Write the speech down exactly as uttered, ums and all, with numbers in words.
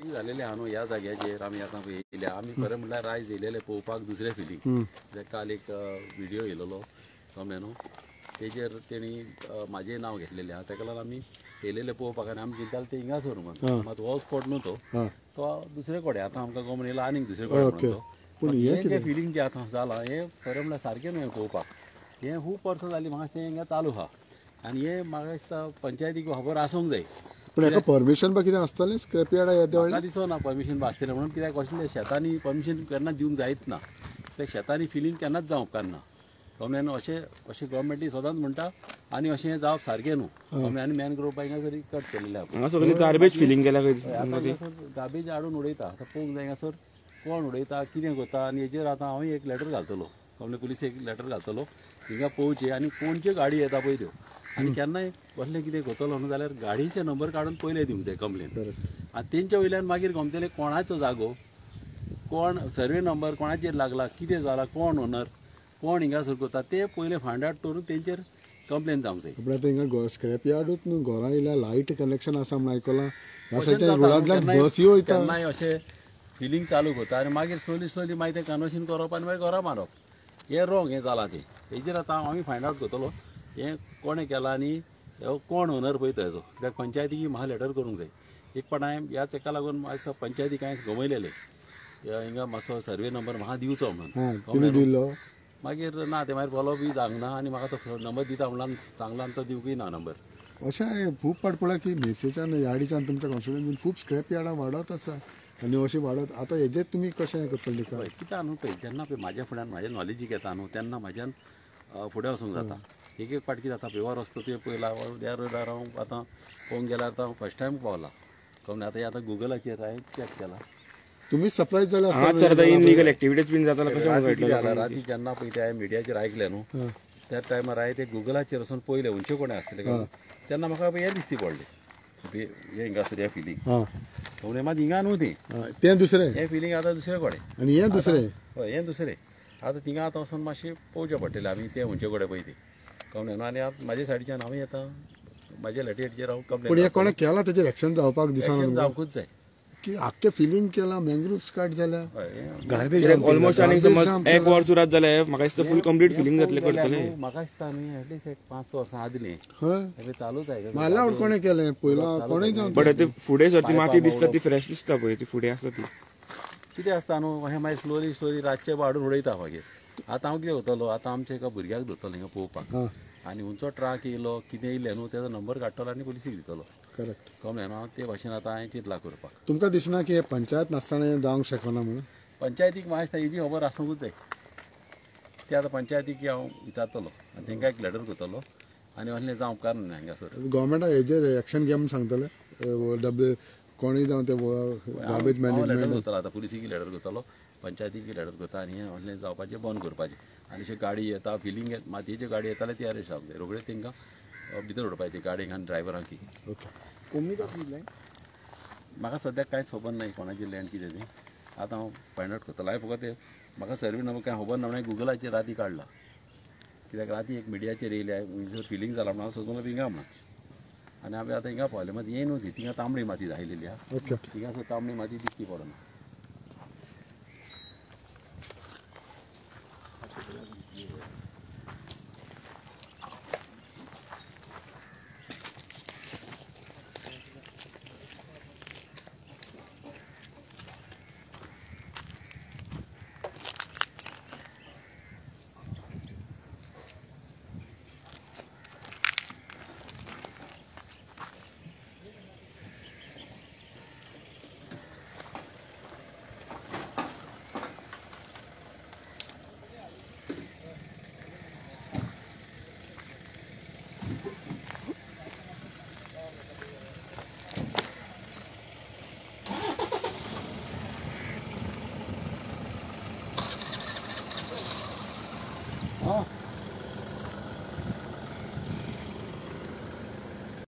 जालेले आहा न्हू ह्या जाग्याचेर आमी आतां येयल्या. आमी खरें म्हणल्यार आयज येयलेले पळोवपाक दुसरे फिलींग. काल एक व्हिडियो येयलेलो कमलें न्हू, तेजेर तेणी म्हाजें नांव घेतलेलें आहा. तेका लागून आमी येयलेले पळोवपाक आनी आमी चिंताले ते हिंगासर म्हणून, मात हो स्पॉट न्हू तो, तो दुसरे कडेन. आतां आमकां गमन येयला आनीक दुसरे कडेन म्हणून तो. पूण हें जें फिलींग जें आतां जालां हें खरें म्हणल्यार सारकें न्हू पळोवपाक. हें खूब वर्सां जालीं म्हाका तें हिंगा चालू आहा आनी हें म्हाका दिसता पंचायतीक खबर आसूंक जाय. पूण हेका परमिशन बा कितें आसतलें स्क्रॅप यार्डा येद्या म्हाका दिसना परमिशन बा आसतलें म्हणून, कित्याक कसलें शेतांनी परमिशन केन्ना दिवंक जायत ना. ते शेतांनी फिलींग केन्नाच जावंक उपकारना. कमल्यान अशें अशें गव्हर्मेंटूय सदांच म्हणटा आनी अशें हें जावप सारकें न्हू. कमल्यान आनी मॅनग्रोव हिंगासर कट केलेलें आहा. हांगा सगळी गार्बेज फिलींग केल्या, गार्बेज हाडून उडयता. आतां पळोवंक जाय हांगासर कोण उडयता, कितें करता. आनी हेजेर आतां हांव एक लेटर घालतलो, कमले पुलीस एक लेटर घालतलो हिंगा पळोवचें आनी कोणच्यो गाडी येता पळय त्यो, आनी केन्नाय कसलें कितें करतलो न्हू जाल्यार गाडयेचे नंबर काडून पयले दिवंक जाय कंप्लेन. आनी तेंच्या वयल्यान मागीर गमतलें कोणाचो जागो, कोण सर्वे नंबर कोणाचेर लागला, कितें जाला, कोण ओनर, कोण हिंगासर करता ते पयले फायंड आवट करून तेंचेर कंप्लेन जावंक जाय. आपल्या हिंगा स्क्रॅप यार्डूच न्हू, घरां येयल्या लायट कनेक्शन आसा म्हूण आयकलां. बसी वयता केन्नाय अशें फिलींग चालू करता आनी मागीर स्लोली स्लोली मागीर तें कन्वर्शन करप आनी मागीर घरां मारप. हें रोंग हें जालां तें. हेजेर आतां आमी फायंड आवट करतलो हें कोणें केलां आनी कोण ओनर पळय तो हेजो. कित्याक पंचायतीक म्हाका लेटर करूंक जाय. एक पाट हांवें ह्याच हेका लागून म्हाका पंचायतीक हांवें गमयलेलें हिंगा मातसो सर्वे नंबर म्हाका दिवचो म्हणून. मागीर ना ते मागीर फॉलो बी जावंक ना आनी म्हाका तो नंबर दिता म्हणल्यार सांगला आनी तो दिवंकूय ना नंबर. अशें हांवें खूब पाट पळयलां की मेसेच्यान यार्डीच्यान तुमच्या कॉन्स्टिट्युएन्सीन खूब स्क्रॅप यार्डां वाडत आसा आनी अशें वाडत आतां हेजेर तुमी कशें करतले? कितें न्हू पळय, जेन्ना पळय म्हाज्या फुड्यान म्हाज्या नॉलेजीक येता न्हू तेन्ना म्हाज्यान फुडें वचूंक जाता. एक एक पाट कितें जाता पेवर रस्तो तुवें पळयला ह्या रोडार हांव आतां पळोवंक गेल्यार आतां फर्स्ट टायम पावला. कमलें आतां आतां गुगलाचेर हांवें चॅक केला. तुमी सरप्रायज जाले आसतले. इनलिगल एक्टिविटीज बीन जाता कशें कळटलें? राती जेन्ना पळय ते हांवें मिडियाचेर आयकलें न्हू त्या टायमार हांवें ते गुगलाचेर वचून पळयलें खंयचे कोणें आसतलें तेन्ना म्हाका हें दिसती पडलें हें हिंगासर हें फिलींग. कमलें मात हिंगा न्हू तें, तें दुसरें हें फिलींग आतां दुसरे कडेन आनी हें दुसरें, हय हें दुसरें. आतां थिंगा आतां वचून मातशें पळोवचें पडटलें आमी तें खंयचे कडेन पळय तें. कमलें न्हू आनी आतां म्हाज्या सायडीच्यान हांव येता म्हाज्या लेटरीचेर हांव कंप्लेन. पूण हें कोणें केलां तेजेर एक्शन जावपाक दिसना, जावंकूच जाय की आख्खें फिलींग केलां, मॅनग्रोव कट जाल्या, गार्बेज ऑलमोस्ट आनी समज एक वर सुरात जालें म्हाका दिसता फूल कंप्लीट फिलींग जातलें करतलें. म्हाका दिसता न्ही एटलीस्ट एक पांच वर्सां आदलीं हय चालूच आहे. अलावड कोणें केलें पयलां कोणें जावं, बट ते फुडें सर ती माती दिसता ती फ्रेश दिसता पळय ती फुडें आसा ती कितें आसता न्हू अशें मागीर स्लोली स्लोली रातचें हाडून उडयता. मागीर आतां हांव कितें करतलो, आतां आमच्या एका भुरग्याक धरतलो हिंगा पळोवपाक आनी खंयचो ट्रक येयलो कितें येयलें न्हू तेजो नंबर काडटलो आनी पुलिसीक दितलो. करेक्ट. कमलें न्हू ते भाशेन आतां हांवें चिंतलां करपाक. तुमकां दिसना की पंचायत नासतना हें जावंक शकना म्हणून? पंचायतीक म्हाका दिसता हेजी खबर आसूंकूच जाय. ते आतां पंचायतीक हांव विचारतलो आनी तेंकां एक लेटर करतलो आनी असलें जावंक कारण ना हांगासर. गव्हर्मेंटाक हेजेर एक्शन घे म्हूण सांगतले डब्ल्यू कोणूय जावं ते गार्बेज मॅनेजमेंट लेटर करतलो. आतां पुलिसीक लेटर करतलो, पंचायतीक लेटर करता आनी हें असलें जावपाचें बंद करपाचें. आनी अशें गाडी येता फिलींग मातयेच्यो गाडी येताले ती अरेस्ट जावंक जाय रोखडेच तेंकां भितर उडोवपाचें गाडयेक आनी ड्रायव्हरांक. ओके. कोमी लँड म्हाका सद्याक कांयच खबर ना कोणाची लँड कितें ती. आतां हांव फायंड आवट करतलो. हांवें फकत म्हाका सर्वे नंबर कांय खबर ना म्हणून गुगलाचेर राती काडला. कित्याक राती एक मिडियाचेर येयल्या फिलींग जाला म्हणून हांव सोदून हिंगा म्हणून आनी आमी आतां हिंगा पावले. मात हें न्हू ती थिंगा तांबडी माती आयलेली आहा. ओके. थिंगासर तांबडी माती दिसती पडना. Oh.